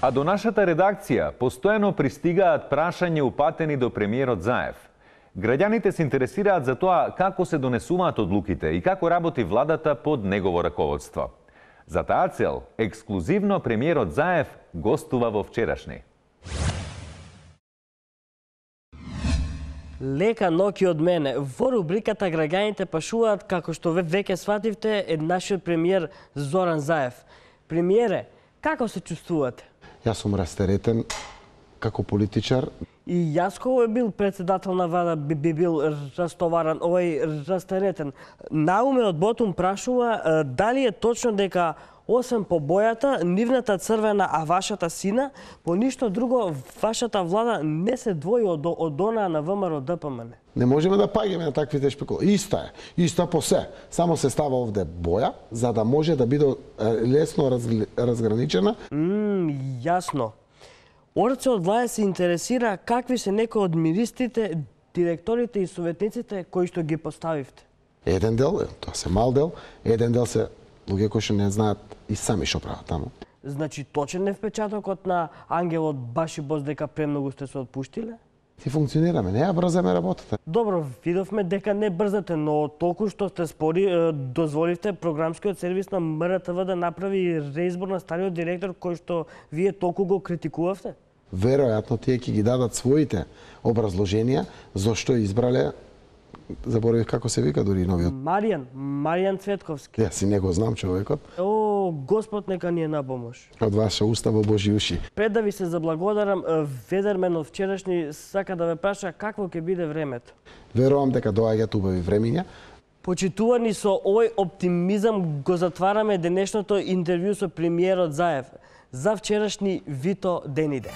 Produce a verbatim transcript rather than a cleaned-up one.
А до нашата редакција постојано пристигаат прашања упатени до премиерот Заев. Граѓаните се интересираат за тоа како се донесуваат одлуките и како работи владата под негово раководство. За таа цел, ексклузивно премиерот Заев гостува во вчерашни. Лека ноќ од мене. Во рубриката граѓаните пашуваат, како што веќе свативте, е нашиот премиер Зоран Заев. Премиере, како се чувствувате? Јас сум растеретен како политичар. И јас кога бил председател на влада би, би бил растоваран, овој растеретен. Науме од Ботум прашува дали е точно дека освен по бојата, нивната црвена, а вашата сина, по ништо друго вашата влада не се двои од, од онаа на ВМРО Д П М Н. Не можеме да паѓаме на таквите шпекулации. Иста е, иста по се. Само се става овде боја, за да може да биде лесно раз, разграничена. Мм, јасно. Орце од влада се интересира какви се некои од министрите, директорите и советниците кои што ги поставивте. Еден дел, тоа се мал дел, еден дел се луѓе кои што не знаат и сами што прават таму. Значи точен е впечатокот на Ангелот Башибоз дека премногу сте се отпуштиле? Ти функционираме, не ја брзаме работата. Добро, видовме дека не брзате, но толку што сте спори, дозволивте програмскиот сервис на М Р Т В да направи реизбор на стариот директор кој што вие толку го критикувавте? Веројатно тие ќе ги дадат своите образложенија зошто избрале, заборавив како се вика дури новиот. Маријан, Маријан Цветковски. Јас си не го знам човекот. О, Господ нека ни е на помош. Од ваша уста во Божи уши. Пред да ви се заблагодарам, Ведермен од вчерашни сака да ве праша какво ќе биде времето. Верувам дека доаѓаат убави времиња. Почитувани, со овој оптимизам го затвараме денешното интервју со премиерот Заев. За вчерашни Вито Дениде.